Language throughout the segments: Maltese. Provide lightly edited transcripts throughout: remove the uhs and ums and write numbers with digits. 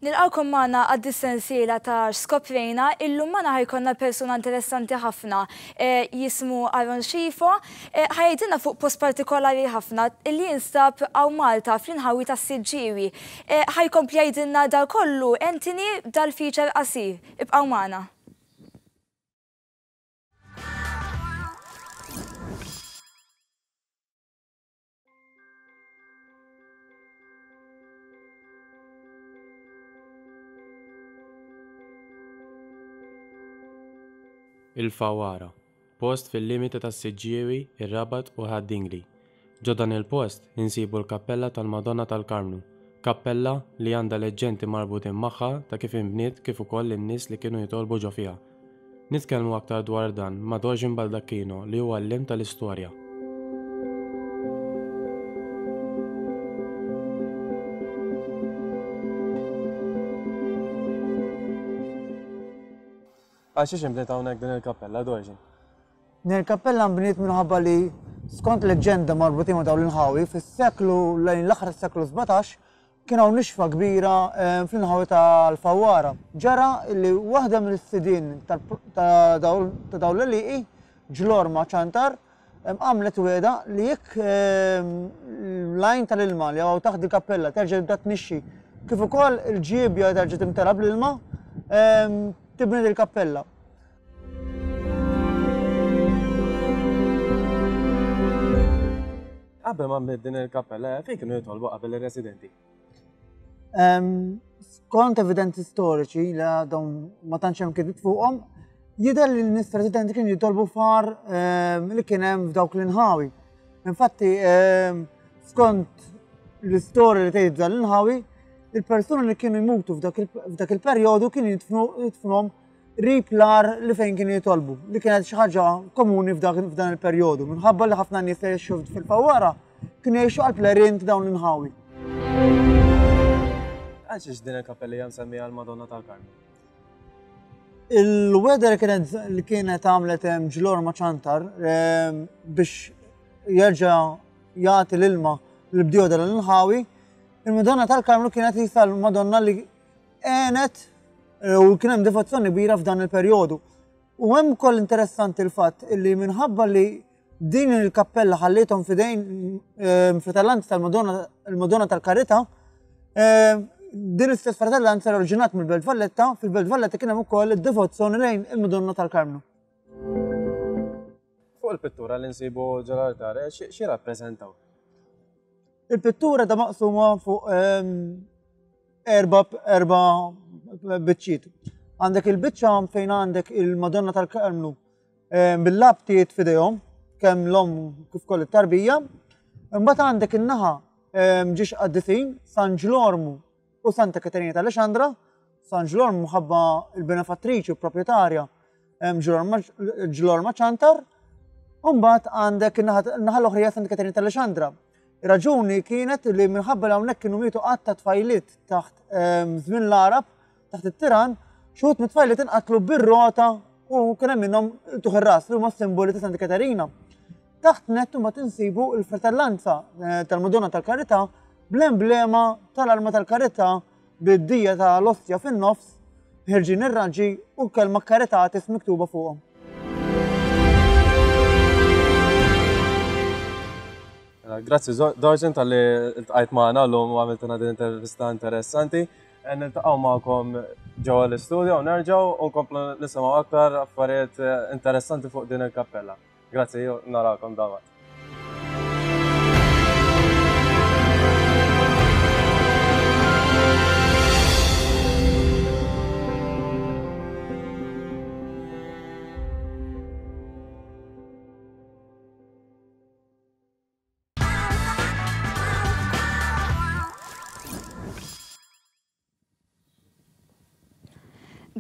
Nilqgħukom magħna għad-dis-sensiela ta' X'Skoprejna. Illum magħna ħa jkollna persuna interessanti ħafna jismu Aaron Scifo. Ħa jgħidilna fuq post partikolari ħafna li jinstab hawn Malta fl-inħawi tas-Siġġiewi. Ħa jkompli jgħidilna dal kollu Anthony b'dal-feature qasir. Ibqgħu magħna. Il-Fawwara, post fil-limiti tas-Siġġiewi, ir-Rabat u Ħad-Dingli. Ġo dan il-post insibu l-kappella tal-Madonna tal-Karmnu, kappella li għandha leġġendi marbutin magħha ta' kif inbniet kif ukoll in-nies li kienu jitolbu ġo fiha. Nitkellmu aktar dwar dan ma' Dorjin Baldacchino li hu għalliem tal-istorja. Għal xiex inbniet hawnhekk din il-kappella, Dorjin? Din il-kappella nbniet minħabba li skont leġġenda marbutin ma' dawn l-inħawi fis-seklu lejn l-aħħar tas-seklu 17 Kien hawn nixfa kbira fl-inħawi tal-Fawwara. Ġara li waħda mill-sidien ta' dawn l-għelieqi, Ġlorma Ciantar, għamlet wegħda li jekk l-għajn tal-ilma li hawn taħt il-kappella terġa' tibda tnixxi, kif ukoll il-ġiebja terġa' timtela bl-ilma, tibni dil-kappella. Qabel ma nbniet din il-kappella, fejn kienu jitolbu qabel ir-residenti? Skont evidenzi storiċi li għadhom ma tantx hemm kitbiet fuqhom, jidher li n-nies residenti kienu jitolbu far li kien hemm f'dawk l-inħawi. Infatti, skont l-istorja li tgħid dan l-inħawi, il-persuni li kienu jmutu f'dak il-perjodu kienu jitfnuhom qrib l-għar li fejn kienu jitolbu, li kienet xi ħaġa komuni f'dan il-perjodu, minħabba li ħafna nies li jgħixu fil-Fawwara kienu jgħixu qalb l-għerien ta' dawn l-inħawi. Għalxiex din il-kappella hija msemmija l-Madonna tal-Karmnu? Il-wegħda li kienet li kienet għamlet Ġlorma Ċantar biex jerġa' jagħti l-ilma l-bdiewa tal-inħawi, il-Madonna tal-Karmnu kienet jisa l-Madonna li għenet eh, u kien hemm devozzjoni kbira f'dan il-perjodu. U hemm ukoll interessanti l-fatt li minħabba li din il-kappella ħallithom fidejn eh, fratellanza tal-Madonna il-Madonna tal-Karità, eh, din l-istess fratellanza oriġinat mill-Belt Valletta, fil-Belt Valletta kien hemm ukoll id-devozzjoni lejn il-Madonna tal-Karmnu. Fuq il-pittura li nsibu ġol-altar, eh, xi rappreżentaw? Il-pittura ta' maqsuma fuq ehm, erba erba biċċiet. Għandek il-biċċa fejn għandek il-Madonna tal-Karmnu ehm, bil-labtiet fidejhom, kemm l-om kif koll it-tarbija. Imbagħad għandek in-naħa ehm, ġiex qaddisin, San Ġlormu u Santa Katerina ta' Alexandra, San Ġlormu mħabba il-benefattriċi u proprjetarja Ġlorma Ċantar, u mbagħad għandek in-naħa l-oħra Santa Katerina ta' Alexandra. Raġuni kienet li minħabba li hawnhekk kienu mietu qatt ta' tfajliet taħt żmien l-Arab, taħt it-tiran, xi mit-tfajliet inqatlu bir-rota u kien hemm minnhom tuħ ir-ras li huma simboli ta' Santa Katerina. Taħt nett imbagħad insibu l-fratellanza eh, tal-Madonna tal-Karità bl-emblema tal-arma tal-karità bid-dija tal-ostja fin-nofs, ħirġin ir-raġġi u kelma Caritatis miktuba fuqhom. Mela, grazzi Dorġen tal-li ltqajt magħna llum u għamiltna din intervista interessanti. Eh, niltaqgħu magħkom ġewwa l-istudio u nerġgħu u nkomplu nisimgħu aktar affarijiet eh, interessanti fuq din il-kappella. Grazzi, narakom dalwaqt.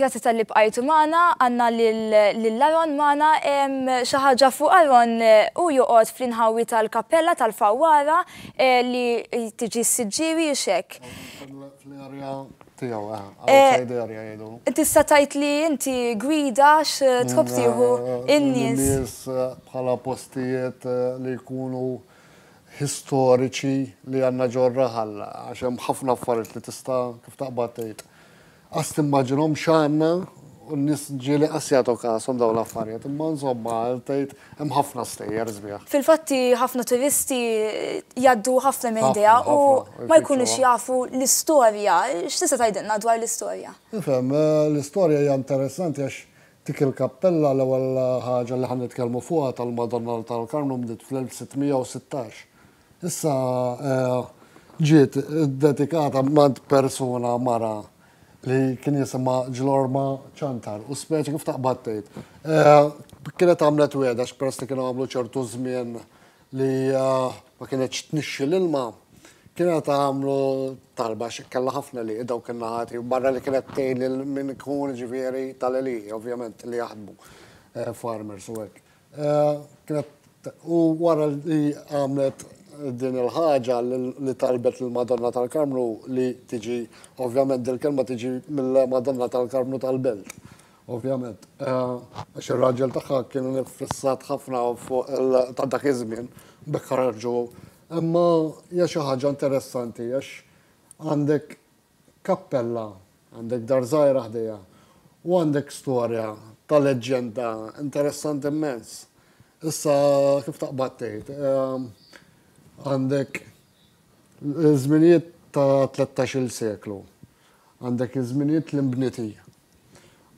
Grazzi talli bqajtu magħna, għandna lil Aaron magħna, xi ħaġa fuq Aaron hu joqgħod fl-inħawi tal-kappella tal-Fawwara li tiġi s-Siġġiewi hux hekk? Fl-area tiegħu, outside area jgħidu. Tista' tgħid li inti gwida x'tħobb tieħu in-nies? In-nies bħala postijiet li jkunu historiċi li għandna ġor-raħal għax hemm ħafna affarijiet li tista' kif taqbad tgħid. Qas timmaġinhom x'għandna u n-nies ġieli qas jagħtu kashom dawn l-affarijiet, imma insomma tgħid hemm ħafna stejjer sbieħ. Fil-fatti ħafna turisti jgħaddu ħafna minn ħdejha u ma jkunux jafu l-istorja. X'tista' tgħidilna dwar l-istorja? Nifhem, l-istorja hija interessanti għax dik il-kappella l-ewwel ħaġa li ħa nitkellmu fuqha tal-Madonna tal-Karmnu nbdiet fl-1616. Issa ġiet iddedikata mant persuna mara li kien jisimha Ġlorma Ċantar u speċi kif taqbad tgħid. Kienet għamlet wegħda għax peress li kienu għamlu ċertu żmien li ma kinetx tnixxi l-ilma, kienet għamlu talba għax kellha ħafna għelieqi dawk in-naħat barra li kienet tgħin lil min ikun ġifieri tal-għelieqi ovvjament li jaħdmu farmers u hekk. Kienet u wara li għamlet din il-ħaġa li talbet lill-Madonna tal-Karmnu li tiġi, ovvjament dil-kelma tiġi mill-Madonna tal-Karmnu tal-Belt, ovvjament. Għax ir-raġel tagħha kien iffissat ħafna fuq ta' dak iż-żmien, b'hekk ħarġu. Imma hija xi ħaġa interessanti għax għandek kappella, għandek dar żgħira ħdejha u għandek storja ta' leġġenda interessanti immens. Issa kif taqbad tgħid, għandek żminijiet ta' 13-il seklu, għandek iż-żminijiet li nbniet hi.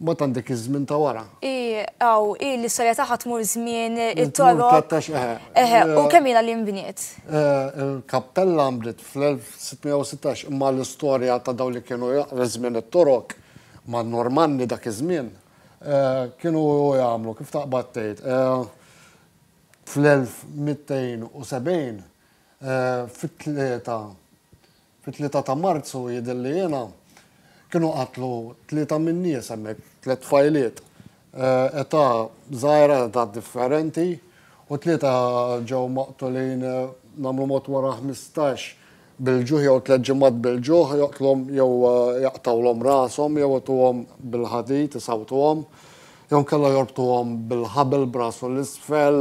Mbagħad għandek iż-żmien ta' wara. I, aw, i l-istorja tagħha tmur żmien it-Torok. Tmur eħe. Eħe, u kemm ilha li nbniet? Il-kappella nbniet fl-1616 imma l-istorja ta' dawn li kienu żmien it-Torok man-Normanni dak iż-żmien kienu jagħmlu kif taqbad tgħid fl-1270 fit-tlieta Fit-3 ta' Marzu jidhirli jiena, kienu qatlu tlieta min-nies hemmhekk, tliet tfajliet, età żgħira, età differenti, u tlieta ġew maqtulin nagħmlu mod wara 15 bil-ġuħ jew tliet ġimgħat bil-ġuħ, joqtlhom jew jaqtgħulhom rashom jew ituhom bil-ħadid isawtuhom, jew inkella jorbtuhom bil-ħabel b'rasu 'l isfel,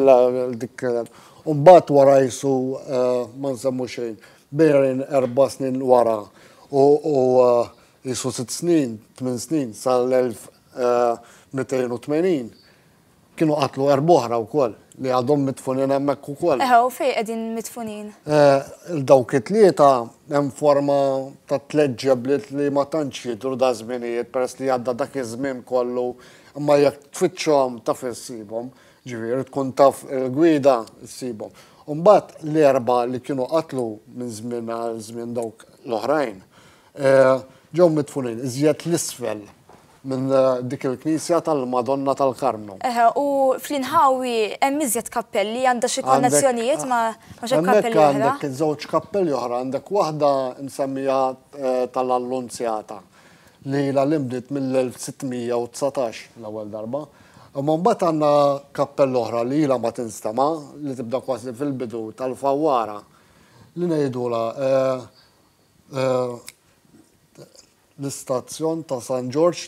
dik u mbagħad wara qisu ma nsemmu xejn. Bejn erba' snin wara u qisu sitt snin, tmien snin, sal-1280, kienu qatlu erba' oħra wkoll li għadhom midfunin hemmhekk ukoll. Eħe, u fejn qegħdin midfunin? Dawk it-tlieta hemm forma ta' tliet ġebliet li ma tantx jidhru daż-żminijiet peress li għadda dak iż-żmien kollu, imma jekk tfittxhom taf issibhom. Ġifieri tkun taf il-gwida ssibhom. U mbagħad l-erbgħa li kienu qatlu minn żmien għal żmien dawk l-oħrajn ġew midfunin iżjed 'l isfel minn dik il-knisja tal-Madonna tal-Karmnu. Eħe, u fl-inħawi hemm iżjed kappelli, għandha xi konnessjonijiet ma' xi kappelli oħra? Hemmhekk għandek żewġ kappelli oħra, għandek waħda msemmija tal-Allunzjata li ilha li nbniet mill-1619 l-ewwel darba. Imma mbagħad għandna kappella oħra li ilha ma tinstema' li tibda kważi fil-bidu tal-Fawwara li ngħidulha l-istazzjon ta' San Ġorġ,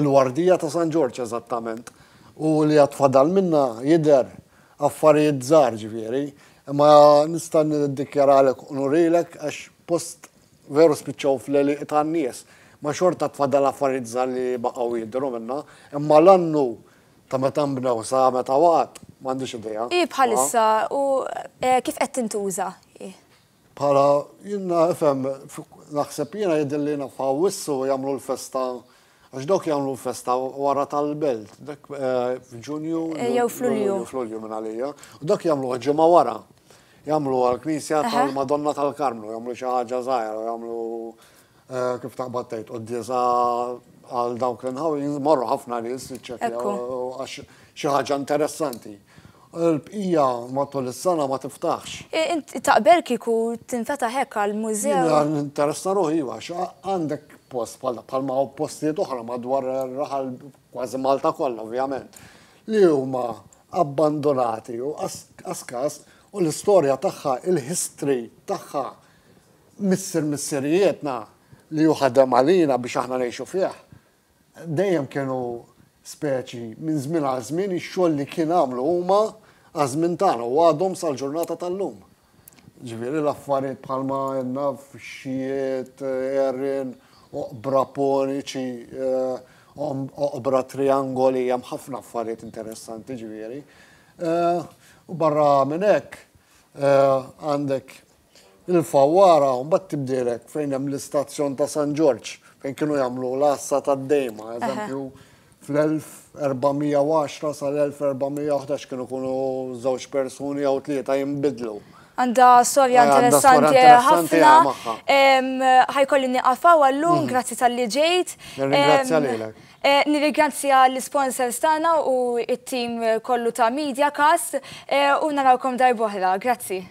il-Wardija ta' San Ġorġ eżattament, u li għad fadal minnha jidher affarijiet żgħar ġifieri, imma nista' niddikjaralek u nurilek għax post Veru spiċċaw fl-għelieqi tan-nies, ma xorta tfadal affarijiet żgħar li baqgħu jidhru minnha, imma l-annu ta' meta nbnew sa meta waqgħet, m'għandix idea. Hi bħalissa u kif qed tintuża hi? Bħala, jiena ifhem, naħseb jiena jidhirli jiena f'Awwissu jagħmlu l-festa, għax dawk jagħmlu l-festa wara tal-belt, dak f'Ġunju. Jew f'Lulju. F'Lulju minn għalija. U dak jagħmluha ġimgħa wara. Jagħmlu għall-Knisja tal-Madonna tal-Karmnu, jagħmlu xi ħaġa żgħira, jagħmlu kif taqbad tgħid quddiesa għal dawk l-inħawi, jmorru ħafna nies jiċċekkjaw għax xi ħaġa interessanti. Il-bqija matul is-sena ma tiftaħx. Inti taqbel kieku tinfetaħ hekk għal mużew? Jiena ninteressa ruħi iva, għax għandek post bħalma hawn postijiet oħra madwar ir-raħal kważi Malta kollha ovvjament, li huma abbandunati u qas każ u l-istorja tagħha, il-history tagħha missier missirijietna li hu ħadem għalina biex aħna ngħixu fih, dejjem kienu speċi minn żmien għal żmien ix-xogħol li kien għamlu huma għaż-żmien tagħna u għadhom sal-ġurnata tal-lum. Ġifieri l-affarijiet bħalma għedna fxxijiet, għerien. oqbra poniċi, oqbra triangoli, hemm ħafna affarijiet interessanti ġifieri. U barra minn hekk għandek il-Fawwara u mbagħad tibdielek fejn hemm l-istazzjon ta' San Ġorġ fejn kienu jagħmlu l-għassa tad-dejma, eżempju fl-1410 sal-1411 kienu jkunu żewġ persuni jew tlieta jinbidlu. Għandha storja interessanti ħafna. Ħa jkolli nieqaf hawn għallum, grazzi talli ġejt. Nirringrazzja lilek. Nirringrazzja l-sponsors tagħna u it-tim kollu ta' MediaCast u narawkom darb'oħra. Grazzi.